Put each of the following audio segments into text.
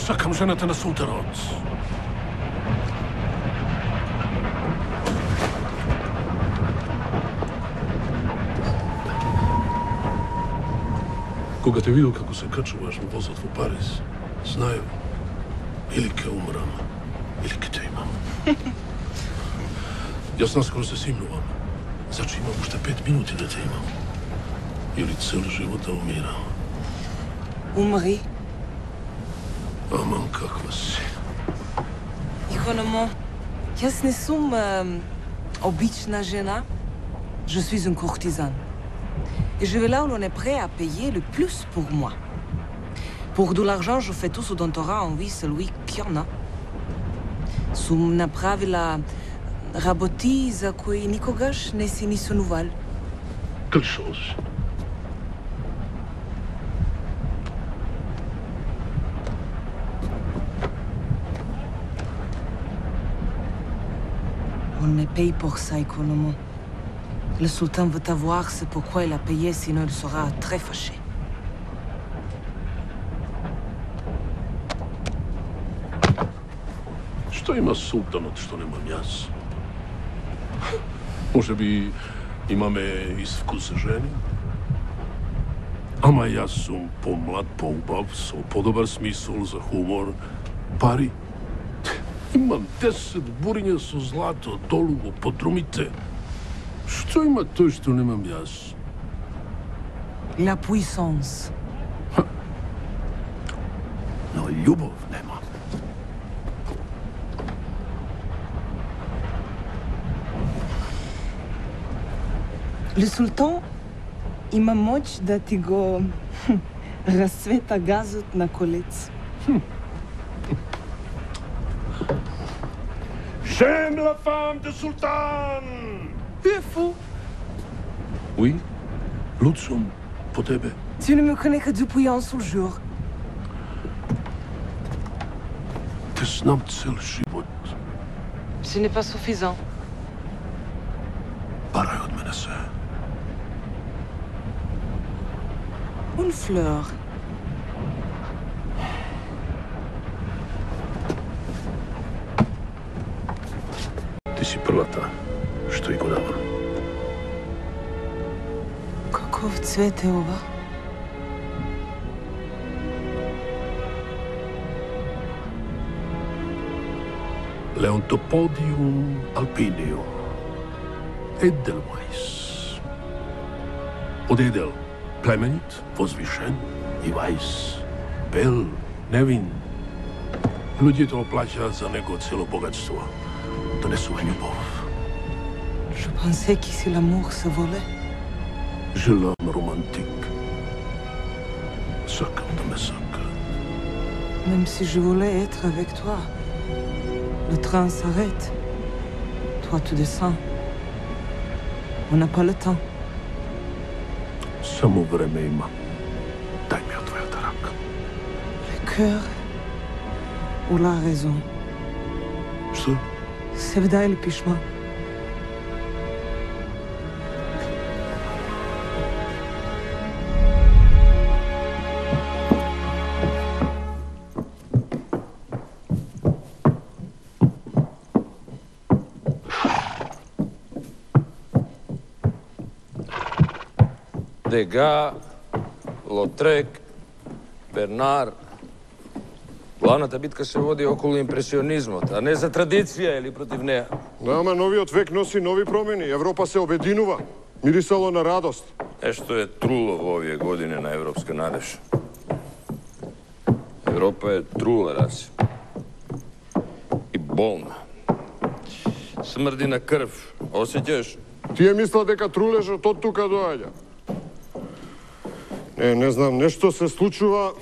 Сакам жената на султанот. Кога те видел како се качуваш во возот во Париз, знаев, или ке умрам, или ке те имам. Јас наскоро се симнувам. Значи имам уште 5 минути да те имам. Или цел живот да умирам. Умри. Аман каква си. Икономо, јас не сум обична жена. Je suis un courtisan. Et je vais là où l'on est prêt à payer le plus pour moi. Pour de l'argent, je fais tout ce dont aura envie celui qui en a. Сум направила работи за кои никогаш не си ни сонувал. Quelle chose? On me paye pour ça, Economo. Le sultan veut avoir, c'est pourquoi il a payé, sinon il sera très fâché. Што има султанот што немам јас? Може би имаме ист вкус за жени? Ама јас сум помлад, поубав, со подобар смисол за хумор, пари. Имам 10 буриња со злато долу во подрумите. Што има тој што немам јас? La puissance. Но љубов нема. Le sultan има моќ да ти го разцвета газот на колец. J'aime la femme de sultan! Tu es fou. Oui, луд сум по тебе. Tu ne me connais que depuis un seul jour. Те знам цел живот. Ce n'est pas suffisant. Барај од мене се. Une fleur. Ти си првата што и го давам. Каков цвет е ова? Leontopodium alpineum. Edelweiss. Од едел, племенит, возвишен и вајс. Бел, невин. Луѓето оплаќаат за него цело богатство. Донесува љубов. Je pensais qu'ici l'amour se volait. Je l'homme romantique. Сакам да ме сака. Même si je voulais être avec toi, le train s'arrête. Toi, tu descends. On n'a pas le temps. Само време има. Дај ми од твојата рака. Le cœur ou la raison? Што? Sevda или пишма? Дега, Лотрек, Бернар. Главната битка се води околу импресионизмот, а не за традиција или против неа. Да, ама новиот век носи нови промени. Европа се обединува. Мирисало на радост. Нешто е труло во овие години на европска надеж. Европа е трула, Раси. И болна. Смрди на крв. Осеќаш? Тие мисла дека трулежот од тука доаѓа. Не знам, нешто се случува.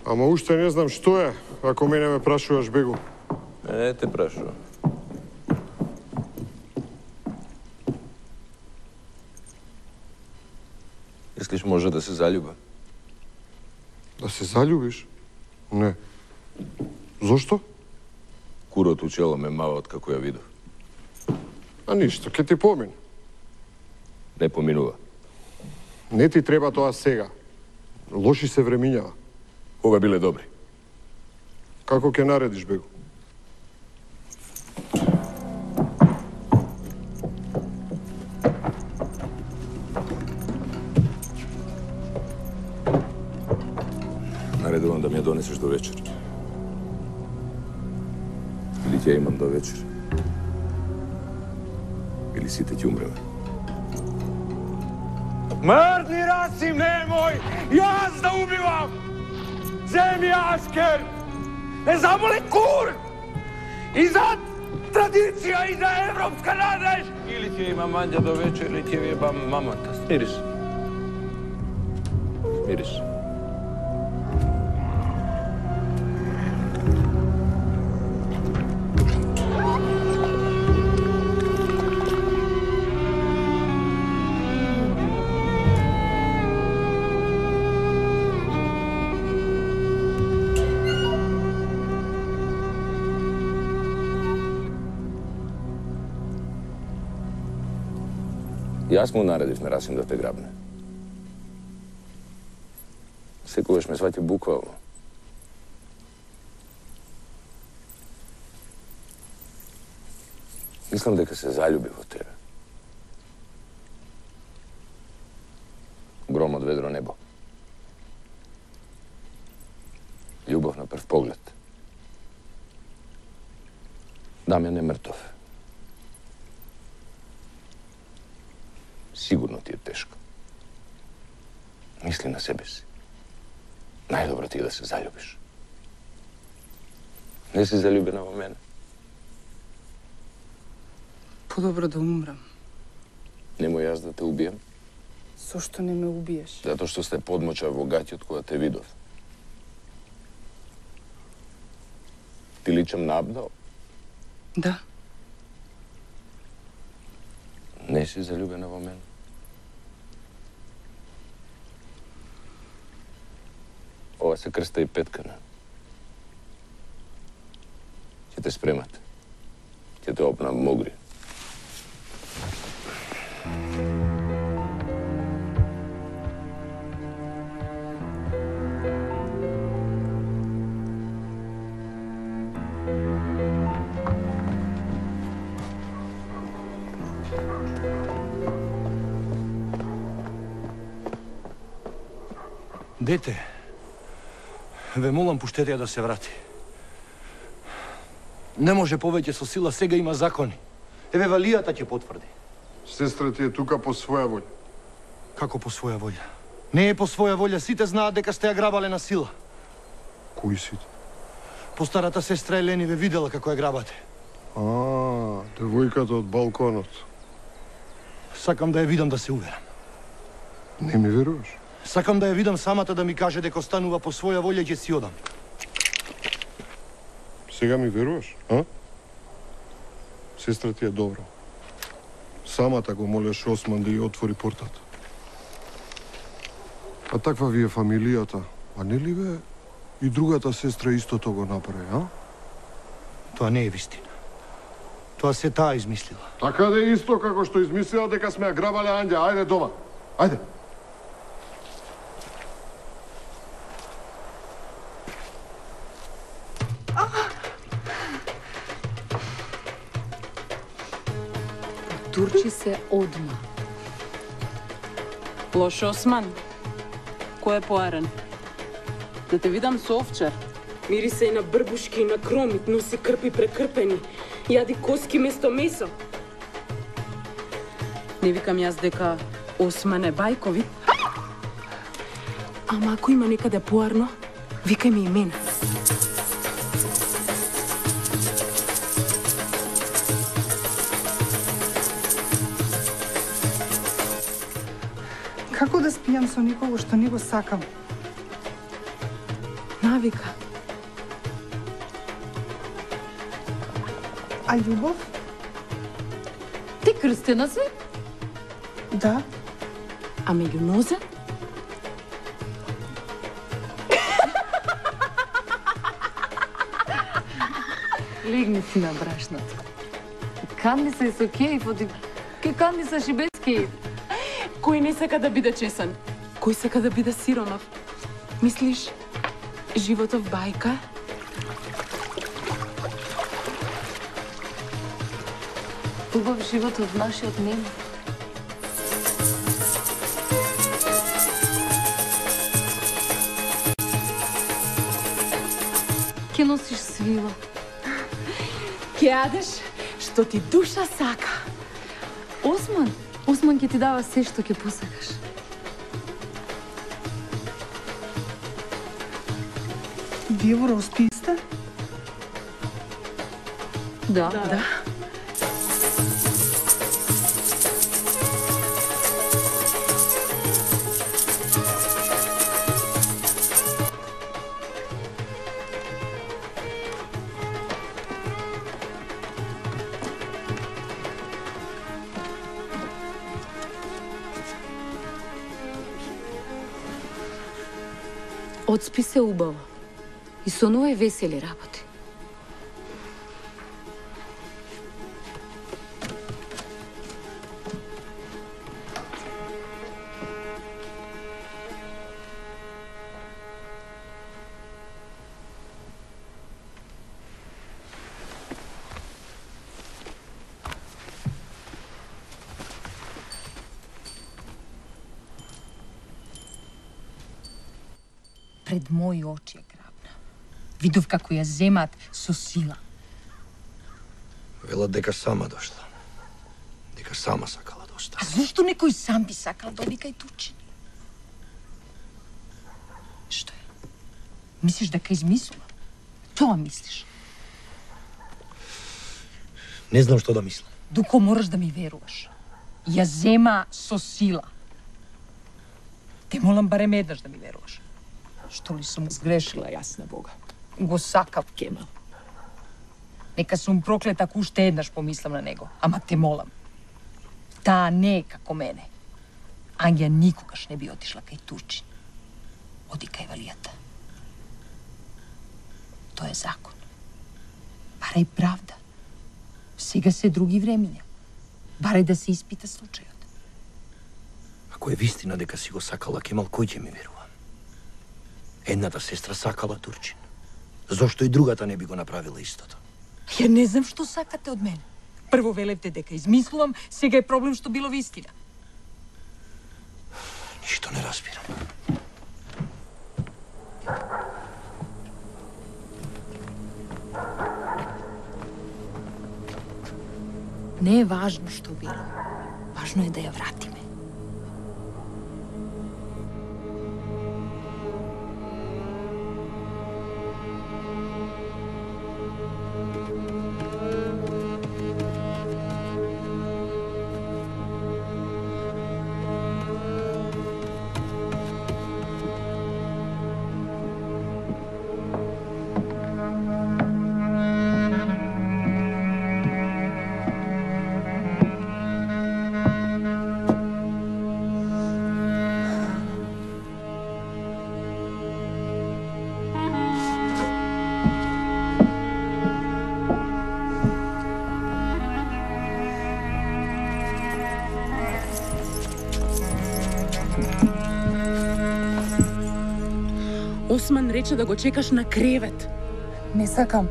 Ама уште не знам што е, ако мене ме прашуваш, Бегу. Не те прашувам. Мислиш може да се залюба? Да се заљубиш? Не. Зошто? Курот у чело ме мава од како ја видов. А ништо, ке ти помине. Не поминува. Не ти треба тоа сега. Лоши се времињава. Ова биле добри. Како ќе наредиш, бего? Наредувам да ми ја донесеш до вечер. Или ќе ја имам до вечер. Или сите ќе умреме. Мртни Расим, немој! Јас да убивам! Земи Ашкер! Не заболи кур! И за традиција, и за европска надеж! Или ќе имам манџа до вечер, или ќе ви ебам мамата. Смириш. Смириш. Јас му наредив на Расим да те грабне. Секогаш ме свати буквално. Мислам дека се залюби во тебе. Гром од ведро небо. Љубов на прв поглед. Дамјан е мртов. Сигурно ти е тешко. Мисли на себе си. Најдобро ти е да се заљубиш. Не си заљубена во мене. Подобро да умрам. Немој јас да те убијам. Зошто не ме убиеш? Затоа што сте подмоча во гаќот кога те видов. Ти личам на Абдал? Да. Не си заљубена во мене. Ова се крста и петкана. Ќе те спремат. Ќе те опнам могри. Дете, ве молам пуштете ја да се врати. Не може повеќе со сила, сега има закони. Еве Валијата ќе потврди. Сестра ти е тука по своја волја. Како по своја волја? Не е по своја волја, сите знаат дека сте ја грабале на сила. Кои сите? Постарата сестра Елени ве видела како ја грабате. Девојката од балконот. Сакам да ја видам да се уверам. Не ми веруваш? Сакам да ја видам самата да ми каже дека останува по своја волја и ќе си одам. Сега ми веруваш, а? Сестра ти е добра. Самата го молеше Осман да ја отвори портата. А таква ви е фамилијата. А не ли бе и другата сестра истото го направи, а? Тоа не е вистина. Тоа се таа измислила. Така да е исто како што измислила дека сме ја грабале Анѓа. Ајде дома. Ајде. Турчи се одма. Лош Осман. Кој е поарен? Да те видам со овчар. Мириса и на брбушки и на кромит, носи крпи прекрпени. Јади коски место месо. Не викам јас дека Осман е бајкови. Ама ако има некаде поарно, викај ми и мене. Како да спијам со некого што не го сакам? Навика. А љубов? Ти крстена си? Да. А меѓу нозе? Легни си на брашното. Канди се со кејф, ке канди саш и без кејф. Кој не сака да биде чесен? Кој сака да биде сиромав? Мислиш, Животов бајка. Убав живот од нашиот нема. Ке носиш свила. Ке јадеш што ти душа сака. Осман ќе ти дава се што ќе посакаш. Вие во Роспи сте? Да. Одспи се убаво. И сонувај весели работи. Пред мои очи е грабна. Видов како ја земат со сила. Велат дека сама дошла. Дека сама сакала да А остане. зошто некој сам би сакал да оди кај Турчин? Што е? Мислиш дека измислува? Тоа мислиш? Не знам што да мислам. Дуко мораш да ми веруваш. Ја зема со сила. Те молам барем еднаш да ми веруваш. Што ли сум сгрешила, јас на Бога. Го сакав Кемал. Нека сум проклета ако уште еднаш помислам на него. Ама те молам. Таа не е како мене. Ангја никогаш не би отишла кај Турчин. Оди кај Валијата. Тоа е закон. Барај правда. Сега се други времиња. Барај да се испита случајот. Ако е вистина дека си го сакала Кемал, кој ќе ми верува? Едната сестра сакала Турчин. Зошто и другата не би го направила истото? Ја не знам што сакате од мене. Прво велевте дека измислувам, сега е проблем што било вистина. Ништо не разбирам. Не е важно што било. Важно е да ја вратиме. Осман рече да го чекаш на кревет. Не сакам.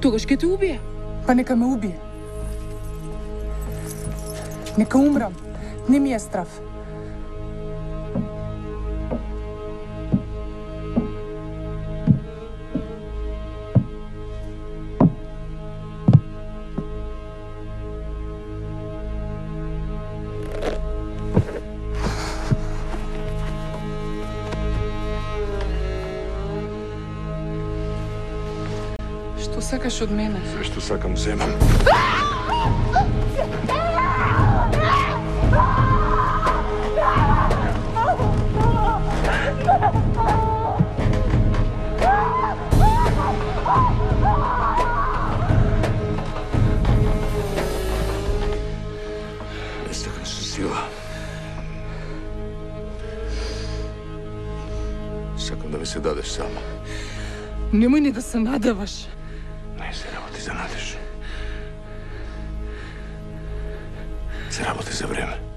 Тогаш ќе те убие. Па нека ме убие. Нека умрам. Не ми е страв. Што сакаш од мене? Се што сакам земам. Не сакам со сила. Сакам да ми се дадеш сама. Немој ни да се надаваш. Не се работи за надеж. Се работи за време.